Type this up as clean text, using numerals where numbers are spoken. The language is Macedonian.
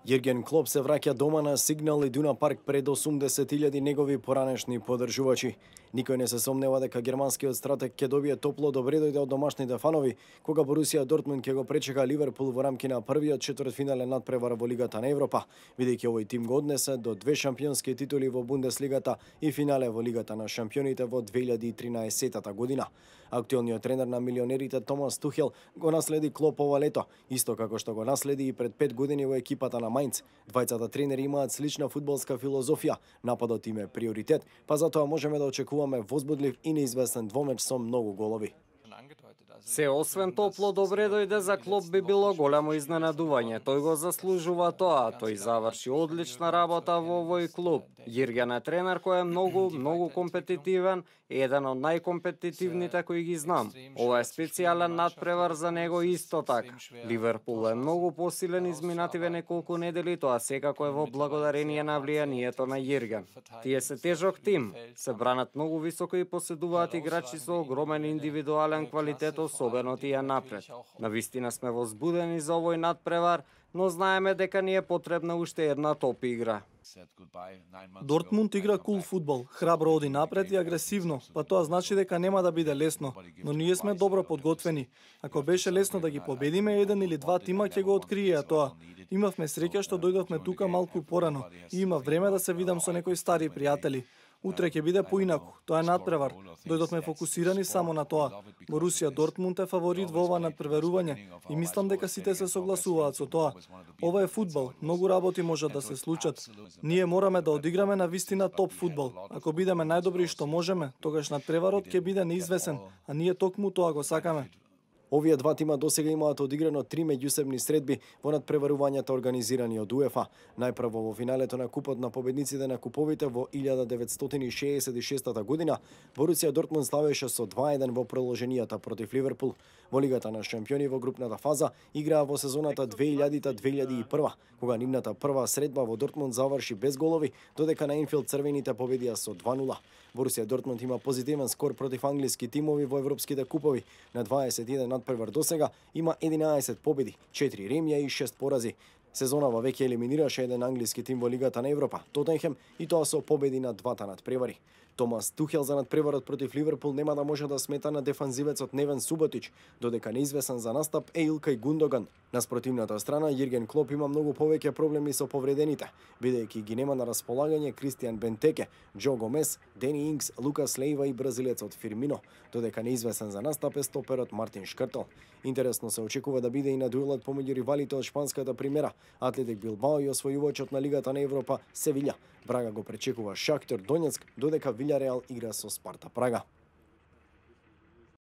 Јерген Клоп се враќа дома на Сигнал Идуна парк пред 80.000 негови поранешни поддржувачи. Никој не се сомнева дека германскиот стратег ќе добие топло добредојде од домашните фанови, кога Борусија Дортмунд ќе го пречека Ливерпул во рамки на првиот четвртфинален надпревар во Лигата на Европа, бидејќи овој тим го однесе до 2 шампионски титули во Бундеслигата и финале во Лигата на шампионите во 2013 година. Актуелниот тренер на милионерите Томас Тухел го наследи Клоп ова лето, исто како што го наследи и пред 5 години во екипата на Мајнц. Двајцата тренери имаат слична фудбалска филозофија, нападот им е приоритет, па затоа можеме да очекуваме возбудлив и неизвестен двомеч со многу голови. Се освен топло добредојде за Клоп би било голямо изненадување. Тој го заслужува тоа, тој заврши одлична работа во овој клуб. Јерген е тренер кој е многу компетитивен, еден од најкомпетитивните кои ги знам. Ова е специјален надпревар за него исто така. Ливерпул е многу посилен изминативе неколку недели, тоа секако е во благодарение на влијанието на Јерген. Тие се тежок тим, се бранат многу високо и поседуваат играчи со огромен индивидуален квалитет, особено тие напред. Навистина сме возбудени за овој надпревар, но знаеме дека ни е потребна уште една топ игра. Дортмунд игра кул фудбал, храбро оди напред и агресивно, па тоа значи дека нема да биде лесно, но ние сме добро подготвени. Ако беше лесно да ги победиме, еден или два тима ќе го откриеа тоа. Имавме среќа што дојдовме тука малку порано и имав време да се видам со некои стари пријатели. Утре ќе биде поинаку, тоа е надпревар. Дојдовме фокусирани само на тоа. Борусија Дортмунд е фаворит во ова надпреварување и мислам дека сите се согласуваат со тоа. Ова е фудбал, многу работи можат да се случат. Ние мораме да одиграме на вистина топ фудбал. Ако бидеме најдобри што можеме, тогаш надпреварот ќе биде неизвесен, а ние токму тоа го сакаме. Овие два тима досега имаат одиграно 3 меѓусебни средби во надпреварувањата организирани од УЕФА. Најпрво во финалето на Купот на победниците на куповите во 1966 година, Борусија Дортмунд славеше со 2:1 во продолженијата против Ливерпул. Во Лигата на шампиони во групната фаза играа во сезоната 2000-2001, кога нивната прва средба во Дортмунд заврши без голови, додека на Енфилд црвените победија со 2:0. Борусија Дортмунд има позитивен скор против англиски тимови во европските купови. На 21 надпревар досега има 11 победи, 4 ремија и 6 порази. Сезонава веќе елиминираше еден англиски тим во Лигата на Европа, Тотенхем, и тоа со победи на двата надпревари. Томас Тухел за надпреварот против Ливерпул нема да може да смета на дефанзивецот Невен Суботич, додека неизвесен за настап е Илкај Гундоган. На спротивната страна, Јерген Клоп има многу повеќе проблеми со повредените, бидејќи ги нема на располагање Кристијан Бентеке, Џо Гомес, Дени Инкс, Лукас Лејва и бразилецот Фирмино, додека неизвесен за настап е стоперот Мартин Шкртел. Интересно се очекува да биде и на дуелот помеѓу ривалите од шпанската примера, Атлетик Билбао и освојувачот на Лигата на Европа Севиља. Брага го пречекува Шахтер Донецк, додека Вилјареал игра со Спарта Прага.